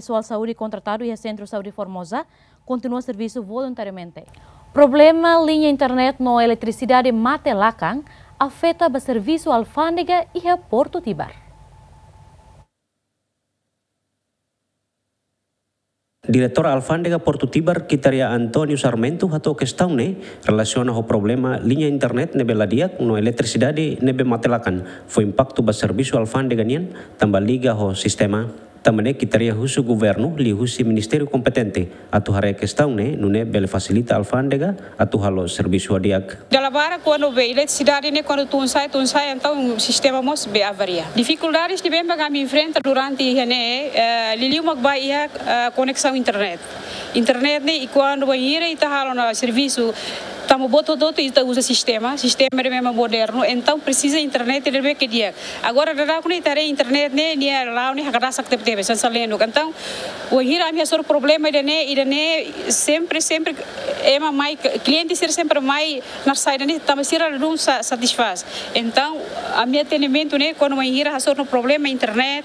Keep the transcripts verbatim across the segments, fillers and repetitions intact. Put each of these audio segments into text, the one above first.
Pesoál saúde kontratadu iha Sentru Saúde Formosa kontinua servisu voluntariamente. Problema liña internet no eletrisidade mate lakan afeta ba servisu alfándega iha Portu Tibar. Diretór Alfándega Portu Tibar, Kitaria António Sarmento, hato'o kestaun ne'e relasiona ho problema liña internet ne'ebé la di'ak no eletrisidade ne'ebé mate lakan fó impaktu ba servisu alfándega nian, tanba liga ho sistema. Tanba ne'e Kitaria husu governu liuhusi ministériu kompetente atu haree kestaun ne'e, nune'e bele fasilita alfándega atu halo servisu ho di'ak. Dala barak kuandu be eletrisidade ne'e kuandu tun sai, tun sai, entaun sistema mós be avaria. Difikuldades ne'ebé mak ami enfrenta durante iha ne'e, eh, liuliu mak ba iha, eh, koneksaun internet. Internet ne'e, i kuandu bainhira ita halo ona servisu, tanba buat hotu-hotu ita uza sistema, sistema ne'ebé mak modernu, entaun presiza internet ne'ebé ke di'ak. Agora daudaun ne'e ita haree internet ne'e, nia la'o ne'e hakdasak tebetebes, hanesan lenuk. Entaun, bainhira ami hasoru problema ida-ne'e, ida-ne'e sempre, sempre ema mai, kliente sira sempre mai naran saida ne'e, tanba sira ladún sa-, satisfás. Entaun, ami atendimentu ne'e, kuandu bainhira hasoru problema internet,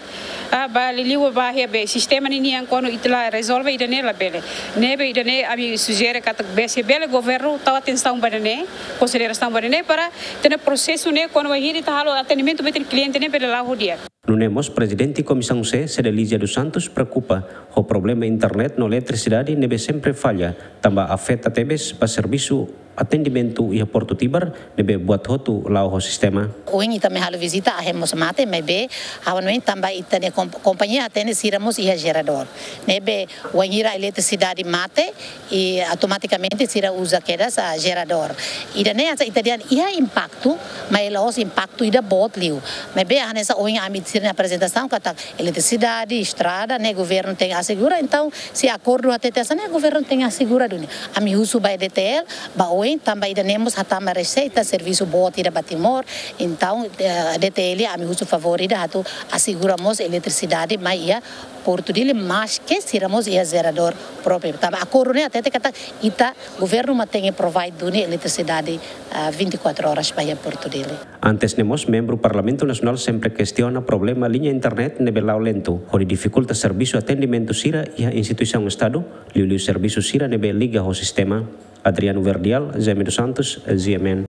ah, ba liuliu ba iha be sistema ne'e nian, kuandu ita la rezolve ida-ne'e labele. Ne'ebé ida-ne'e ami sujere katak be se bele governu tau atensaun ba ida-ne'e, konsiderasaun ba ida-ne'e para ita-nia prosesu ne'e, kuandu bainhira ita halo atendimentu ba ita-nia kliente ne'e bele la'o ho di'ak. Nune'e mós Prezidente Komisaun C, Cedelizia dos Santos, preokupa ho problema internet no eletrisidade ne'ebé sempre falla, tanba afeta tebes ba servisu atendimentu iha Portu Tibar ne'ebé buat hotu la'o ho sistema. Ohin ita mai halo vizita, ahi mós mate, maibé ha'u hanoin tanba ita-nia kom-, kompañia atende sira mós iha jeradór. Ne'ebé bainhira eletrisidade mate, i automatikamente sira uza kedas jeradór. Ida-ne'e hanesan ita dehan iha impaktu, maibé la'ós impaktu ida boot liu. Maibé hanesan ohin ami sira-nia aprezentasaun katak eletrisidade, estrada, ne'e governu tenke asegura, entaun se akordu hatete hanesan ne'e governu tenke asegura duni. Ami husu ba D T L, ba oin, tanba ida-ne'e mós hatama reseita, servisu boot ida ba Timor, entaun, eh, D T L ami husu favór ida atu asegura mós eletrisidade mai iha Portu Dili, maske sira mós iha jeradór própriu. Tanba akordu ne'e hatete katak ita governu mak tenke provide duni eletrisidade, ah, vinte e quatro horas ba iha Portu Dili. Antes ne'e mós membru Parlamentu Nasionál sempre kestiona problema liña internet ne'ebé la'o lentu, hodi difikulta servisu atendimentu sira iha instituisaun Estadu, liuliu servisu sira ne'ebé liga ho sistema. Adriano Verdial, Jaime dos Santos, G M N.